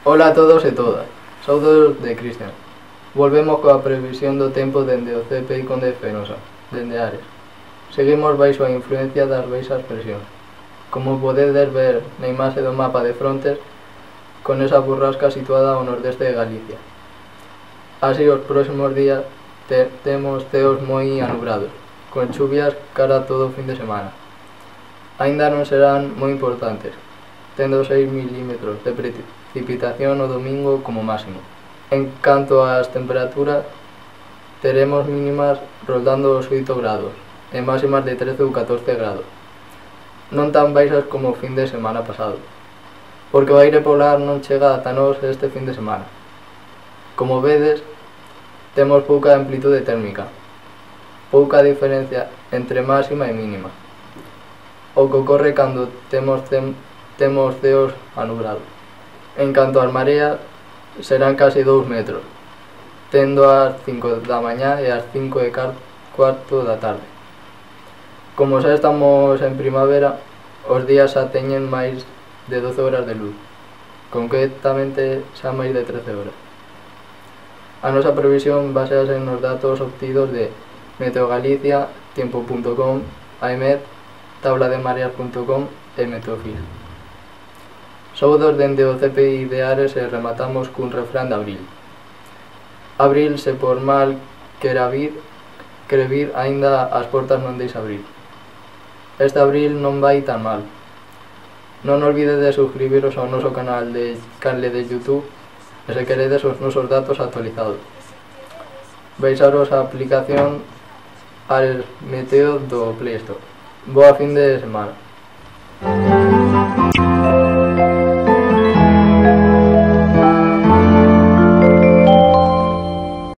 Ola a todos e todas, saúdos de Cristian. Volvemos coa previsión do tempo dende o CPI Conde Fenosa, dende Ares. Seguimos baixo a influencia das baixas presións. Como podedes ver na imaxe do mapa de frontes, con esa burrasca situada ao nordeste de Galicia. Así, os próximos días temos ceos moi anubrados, con chuvias cara a todo o fin de semana. Aínda non serán moi importantes, tendo 6 milímetros de precipitación no domingo como máximo. En canto ás temperaturas, teremos mínimas rondando os 8 grados e máximas de 13 ou 14 grados, non tan baixas como o fin de semana pasado, porque o aire polar non chega ata nós este fin de semana. Como vedes, temos pouca amplitude térmica, pouca diferencia entre máxima e mínima, o que ocorre cando temos ceos anubrados. En canto ás mareas, serán case 2 metros, tendo ás 5 da mañá e ás 5 e cuarto da tarde. Como xa estamos en primavera, os días xa teñen máis de 12 horas de luz, concretamente xa máis de 13 horas. A nosa previsión basease nos datos obtidos de Meteogalicia, Tiempo.com, AEMET, tablademareas.com e Meteofil. Saúdos dende o CPI de Ares e rematamos cun refrán de Abril. Abril, se por mal quere vir, aínda as portas non deixa abrir. Este abril non vai tan mal. Non olvides de suscribiros ao noso canal de YouTube e se queredes os nosos datos actualizados. Baixaros a aplicación Ares Meteo do Play Store. Boa fin de semana.